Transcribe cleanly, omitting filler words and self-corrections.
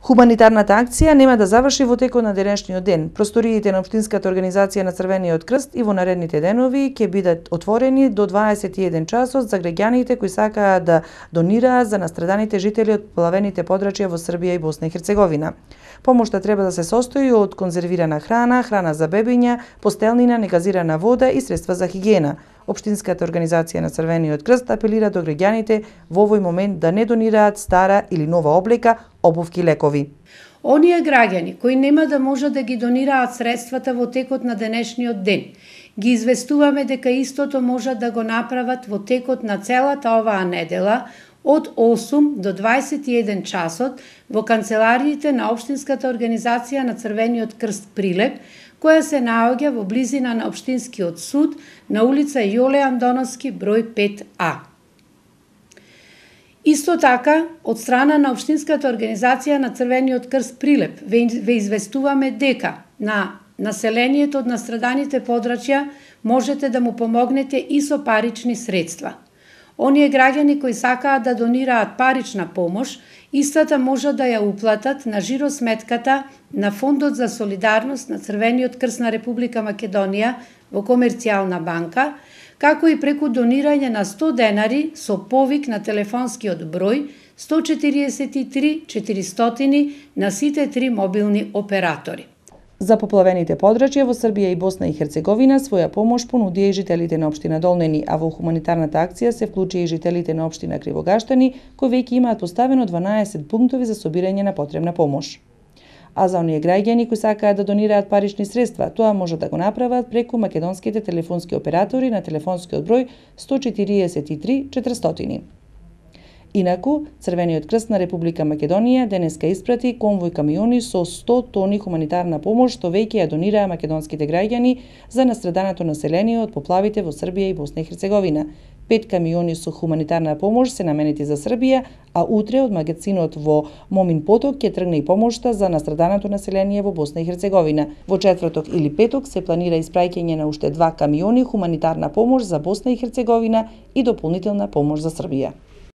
Хуманитарната акција нема да заврши во текот на денешниот ден. Просториите на Општинската организација на Црвениот крст и во наредните денови ќе бидат отворени до 21 часот за граѓаните кои сакаат да донираат за настраданите жители од поплавените подрачја во Србија и Босна и Херцеговина. Помошта треба да се состои од конзервирана храна, храна за бебиња, постелнина, негазирана вода и средства за хигиена. Општинската организација на Црвениот крст апелира до граѓаните во овој момент да не донираат стара или нова облека, обувки, лекови. Оние граѓани кои нема да можат да ги донираат средствата во текот на денешниот ден, ги известуваме дека истото можат да го направат во текот на целата оваа недела од 8 до 21 часот во канцелариите на Општинската организација на Црвениот крст Прилеп, која се наоѓа во близина на Општинскиот суд на улица Јоле Андоновски број 5А. Исто така, од страна на Општинската организација на Црвениот крст Прилеп ве известуваме дека на населението од настраданите подрачја можете да му помогнете и со парични средства. Оние граѓани кои сакаат да донираат парична помош, истата можат да ја уплатат на жиросметката на Фондот за солидарност на Црвениот крст на Република Македонија во Комерцијална банка, како и преку донирање на 100 денари со повик на телефонскиот број 143 400 на сите 3 мобилни оператори. За поплавените подрачја во Србија и Босна и Херцеговина своја помош понудија и жителите на општина Долнени, а во хуманитарната акција се вклучија и жителите на општина Кривогаштани, кои веќе имаат поставено 12 пунктови за собирање на потребна помош. А за оние граѓани кои сакаат да донираат парични средства, тоа може да го направат преку македонските телефонски оператори на телефонскиот број 143 400. Инаку, Црвениот крст на Република Македонија денеска испрати конвој камиони со 100 тони хуманитарна помош што веќе ја донираа македонските граѓани за настраданото население од поплавите во Србија и Босна и Херцеговина. 5 камиони со хуманитарна помош се наменети за Србија, а утре од магазинот во Момин Поток ќе тргне и помошта за настраданото население во Босна и Херцеговина. Во четврток или петок се планира испраќање на уште 2 камиони хуманитарна помош за Босна и Херцеговина и дополнителна помош за Србија.